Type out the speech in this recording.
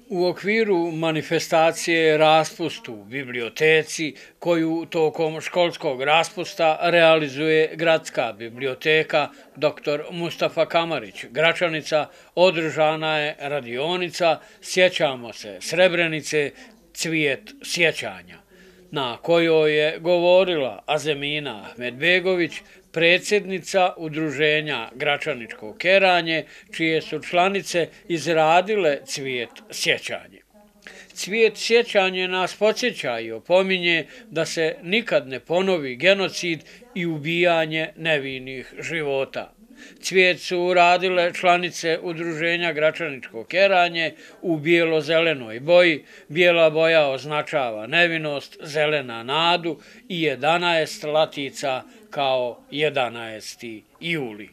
U okviru manifestacije Raspust u biblioteci, koju tokom školskog raspusta realizuje Gradska biblioteka dr. Mustafa Kamarić, Gračanica, održana je radionica Sjećamo se Srebrenice, cvijet sjećanja, na kojoj je govorila Azemina Ahmedbegović, predsjednica Udruženja Gračaničko keranje, čije su članice izradile cvijet sjećanje. Cvijet sjećanje nas podsjeća i opominje da se nikad ne ponovi genocid i ubijanje nevinih života. Cvijet su uradile članice Udruženja Gračaničko keranje u bijelo-zelenoj boji. Bijela boja označava nevinost, zelena nadu i 11 latica kao 11. juli.